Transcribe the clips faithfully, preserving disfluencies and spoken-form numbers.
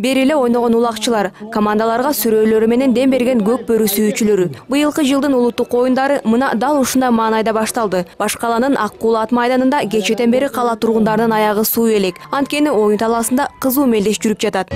Бери эле ойногон улакчылар, командаларга сүрөөлөрү менен дем берген көк бөрү сүйүүчүлөрү. Быйылкы жылдын улуттук оюндары мына дал ушундай маанайда башталды. Баш каланын Ак Кул ат майданында кечээден бери кала тургундарынын аягы суу элек. Анткени оюн талаасында кызуу мелдеш жүрүп жатат.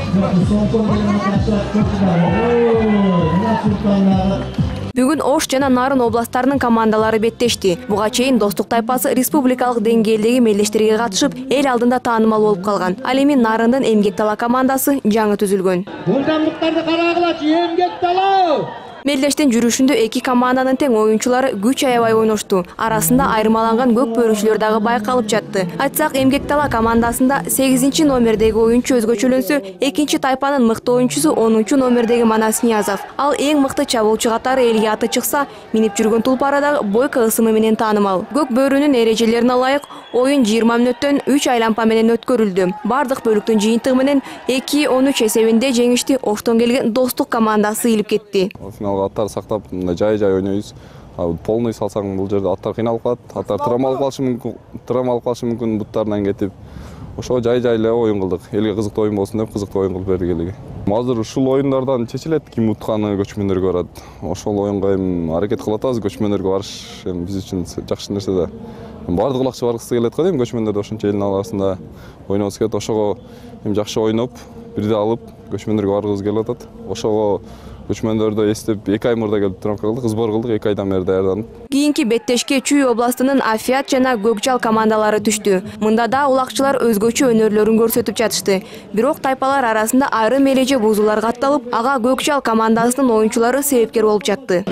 Бүгүн Ош жана Нарын областтарынын командалары беттешти. Буга чейин Достук тайпасы республикалык деңгээлдеги мелдештерге катышып, эл алдында таанымал болуп калган. Ал эми Нарындын Эмгек Дала командасы жаңы түзүлгөн. Мыйзамдыктарды карагылачы, Эмгек Дала! Мелдештин жүрүшүндө эки команданын тең оюнчулары күч аябай ойношту. Арасында айырмаланган көк бөрүчүлөр дагы байкалып жатты. Айтсак, Эмгек Дала командасында сегизинчи номердеги оюнчу өзгөчөлөнсө, экинчи тайпанын мыкты оюнчусу онунчу номердеги Манас Ниязов. Ал эң мыкты чабуучу катары элге аты чыкса, минип жүргөн тулпары дагы бойко ысымы менен таанымал. Көк бөрүнүн эрежелерине ылайык оюн жыйырма мүнөттөн үч айлампа менен өткөрүлдү. Бардык бөлүктүн жыйынтыгы менен эки он үч эсебинде жеңишти Оштон келген Достук командасы илип кетти. Аттар сактап, жай-жай ойнойбуз. Полный салсаң бул жерде аттар кыйналып калат. Аттар травма алып калышы мүмкүн, травма алып калышы мүмкүн буттарынан кетип. Ошо жай-жай эле оюн кылдык. Элге кызыктуу оюн болсун деп кызыктуу оюн кылып бердик элге. Азыр ушул оюндардан чечилет, ким утканы көчмөндөргө барат. Ошол оюнга эми аракет кылып атабыз, көчмөндөргө барыш эми биз үчүн жакшы нерсе да. Бардык улакчы баргысы келет го дейм, көчмөндөрдө ошончо элдин арасында ойногубуз келет. Ошого эми жакшы ойноп, бирде алып көчмөндөргө баргыбыз келип атат. Ошого көчмөндөрдө эстеп эки ай мурда келип тренировка кылдык, сбор кылдык, эки айдан бери даярданып. Кийинки беттешке Чүй областынын Афиат жана Көкжал командалары түштү. Мында да улакчылар өзгөчө өнөрлөрүн көрсөтүп жатышты. Бирок тайпалар арасында айрым эреже бузуулар катталып, ага Көкжал командасынын оюнчулары себепкер болуп жатты.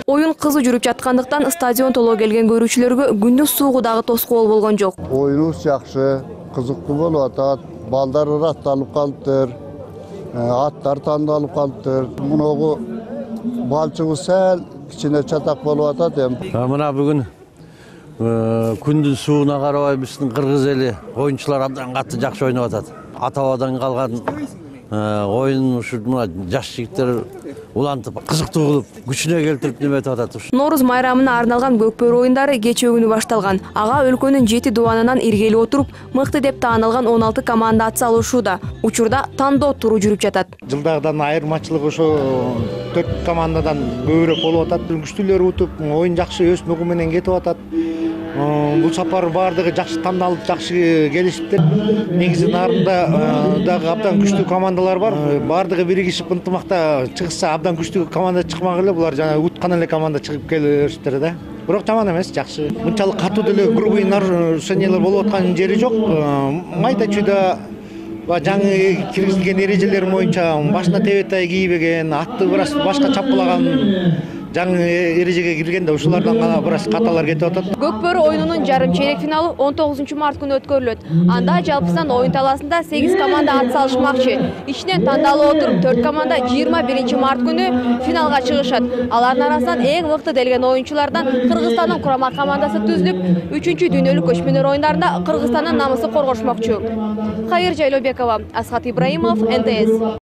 Оюн кызуу жүрүп жаткандыктан стадион толо келген көрүүчүлөргө күндүз суугу дагы тоскоол болгон жок. Оюнубуз жакшы, кызыктуу болуп атат. Балдар атталып калыптыр, аттар тандалып калыптыр. Муногу балчыгыбыз сәл кичине чатак болуп атат эми. Мына бүгүн күндүн сууна карабай биздин кыргыз эли оюнчулар абдан катты жакшы ойноп атат. Ата-бабадан калган оюн ушу мына жаш жигиттер улантып, кызыктуу кылып, күчүнө келтирип неметип атат. Нооруз майрамына арналган көк бөрү оюндары кечээ күнү башталган. Ага өлкөнүн жети дубанынан иргелип отуруп, мыкты деп таанылган он алты команда ат салышууда. Учурда тандоо туру жүрүп жатат. Жылдагыдан айырмачылыгы ошо төрт командадан көбүрөөк болуп атат. Күчтүүлөр утуп, оюн жакшы өз нугу менен кетип атат. Бул сапар бардыгы жакшы тандалып, жакшы келишиптир. Негизи Нарында дагы абдан күчтүү командалар бар. Бардыгы биригишип ынтымакта чыгышса абдан күчтүү команда чыкмак эле. Булар жана уткан эле команда чыгып келишиптир да. Бирок жаман эмес, жакшы. Мынчалык катуу деле грубый нарушениялар болуп аткан жери жок. Майда чүйдө жаңы киргизилген эрежелер боюнча башына тебетай кийбеген, атты бир аз башка чапкылаган жаңы эрежеге киргенде ушулардан гана бир аз каталар кетип атат. Көк бөрү оюнунун жарым чейрек финалы он тогузунчу март күнү өткөрүлөт. Анда жалпысынан оюн талаасында сегиз команда ат салышмакчы. Ичинен тандалып отуруп төрт команда жыйырма биринчи март күнү финалга чыгышат. Алардын арасынан эң мыкты делген оюнчулардан Кыргызстандын курама командасы түзүлүп, үчүнчү дүйнөлүк көчмөндөр оюндарында Кыргызстандын намысын коргошмокчу. Кайыр Жайлообекова, Асхат Ибраимов, эн тэ эс.